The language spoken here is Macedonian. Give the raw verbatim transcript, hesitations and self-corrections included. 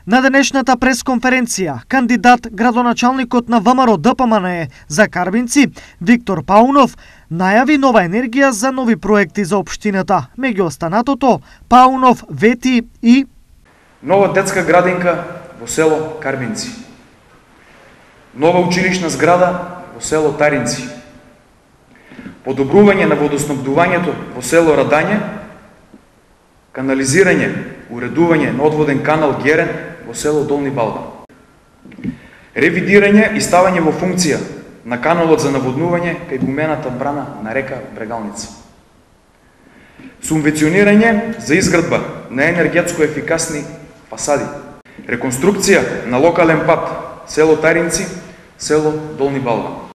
На денешната пресконференција, кандидат градоначалникот на ВМРО Д П М Н за Карбинци, Виктор Паунов, најави нова енергија за нови проекти за општината. Меѓу останатото, Паунов вети и нова детска градинка во село Карбинци, нова училишна зграда во село Таринци, подобрување на водоснабдувањето во село Радање, канализирање, уредување на одводен канал Герен во село Долни Балба, ревидирање и ставање во функција на каналот за наводнување кај гумената брана на река Брегалница, субвенционирање за изградба на енергетско ефикасни фасади, реконструкција на локален пат село Таринци, село Долни Балба.